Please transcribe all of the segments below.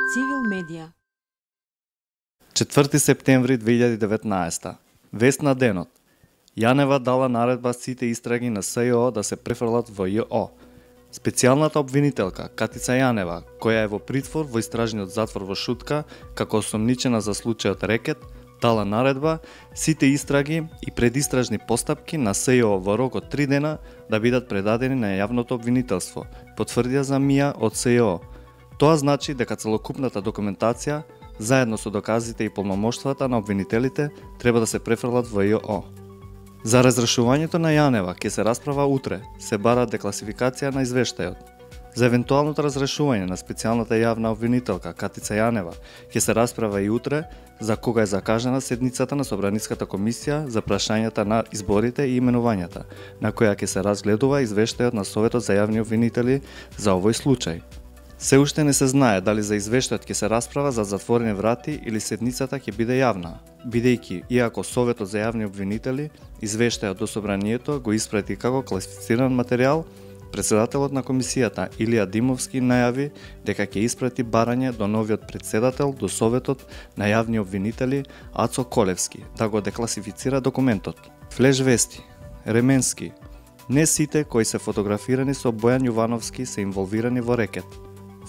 Цивил медија. 4 септември 2019. Вест на денот. Јанева дала наредба сите истраги на СЈО да се префрлат во ЈО. Специјалната обвинителка Катица Јанева, која е во притвор во истражниот затвор во Шутка како осомничена за случајот Рекет, дала наредба сите истраги и предистражни постапки на СЈО во рок од 3 дена да бидат предадени на јавното обвинителство, потврдија за МИА од СЈО. Тоа значи дека целокупната документација, заедно со доказите и полномоштвата на обвинителите, треба да се префрлат во ЈО. За разрешувањето на Јанева ќе се расправа утре, се бара декласификација на извештајот. За евентуалното разрешување на специјалната јавна обвинителка Катица Јанева ќе се расправа и утре, за кога е закажана седницата на Собраниската комисија за прашањата на изборите и именувањата, на која ќе се разгледува извештајот на Советот за јавни обвинители за овој случај. Се уште не се знае дали за извештајот ќе се расправа за затворени врати или седницата ќе биде јавна, бидејќи, иако Советот за јавни обвинители извештајот до Собранието го испрати како класифициран материјал, председателот на комисијата Илија Димовски најави дека ќе испрати барање до новиот председател до Советот на јавни обвинители Ацо Колевски да го декласифицира документот. Флеш вести. Ременски. Не сите кои се фотографирани со Бојан Јувановски се инволвирани во Рекет.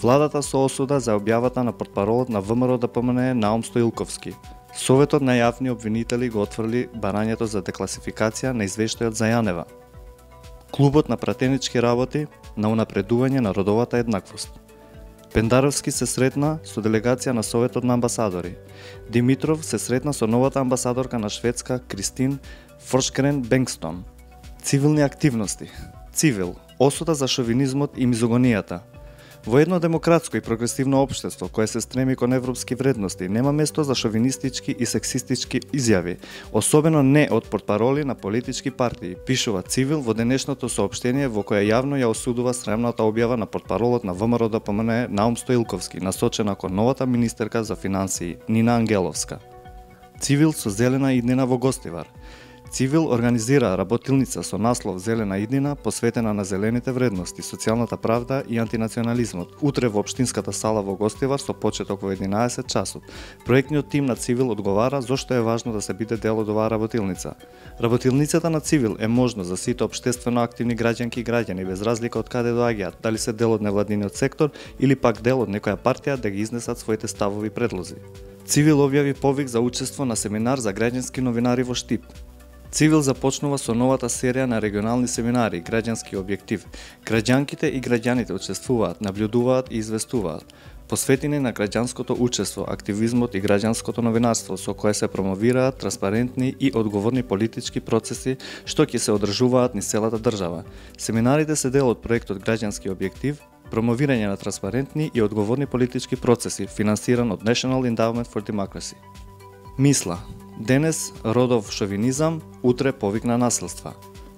Владата со осуда за објавата на портпаролот на ВМРО ДПМН Наум Стоилковски. Советот на јавни обвинители го отфрли барањето за декласификација на извештајот за Јанева. Клубот на пратенички работи на унапредување на родовата еднаквост. Пендаровски се сретна со делегација на Советот на амбасадори. Димитров се сретна со новата амбасадорка на Шведска Кристин Форшкрен Бенгстон. Цивилни активности. Цивил. Осуда за шовинизмот и мизогонијата. Во едно демократско и прогресивно општество кое се стреми кон европски вредности, нема место за шовинистички и сексистички изјави, особено не од портпароли на политички партии, пишува Цивил во денешното соопштение во кое јавно ја осудува срамната објава на портпаролот на ВМРО ДПМН Наум Стоилковски, насочена кон новата министерка за финансии Нина Ангеловска. Цивил со зелена иднина во Гостивар. Цивил организира работилница со наслов Зелена иднина посветена на зелените вредности, социјалната правда и антинационализмот. Утре во општинската сала во Гостивар со почеток во 11 часот. Проектниот тим на Цивил одговара зошто е важно да се биде дел од оваа работилница. Работилницата на Цивил е можно за сите општествено активни граѓанки и граѓани без разлика од каде доаѓаат, дали се дел од невладиниот сектор или пак дел од некоја партија да ги изнесат своите ставови и предлози. Цивил објави повик за учество на семинар за граѓански новинари во Штип. Цивил започнува со новата серија на регионални семинари Граѓански објектив. Граѓанките и граѓаните учествуваат, наблюдуваат и известуваат, посветени на граѓанското учество, активизмот и граѓанското новинарство, со кое се промовираат транспарентни и одговорни политички процеси што ќе се одржуваат низ целата држава. Семинарите се дел од проектот Граѓански објектив, промовирање на транспарентни и одговорни политички процеси, финансиран од National Endowment for Democracy. Мисла. Денес родов шовинизам, утре повик на насилства.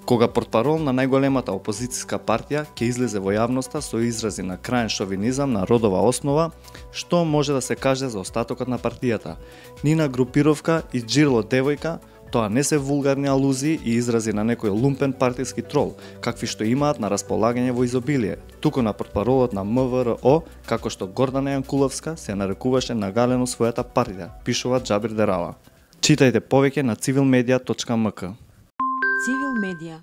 Кога портпарол на најголемата опозицијска партија ќе излезе во јавноста со изрази на краен шовинизам на родова основа, што може да се каже за остатокот на партијата? Нина групировка и Џирло девојка, тоа не се вулгарни алузии и изрази на некој лумпен партиски трол, какви што имаат на располагање во изобилие, туку на портпаролот на МВР, како што Гордана Јанкуловска се нарекуваше нагалено својата партија, пишува Џабир Дерала. Читајте повеќе на civilmedia.mk. Цивил медија.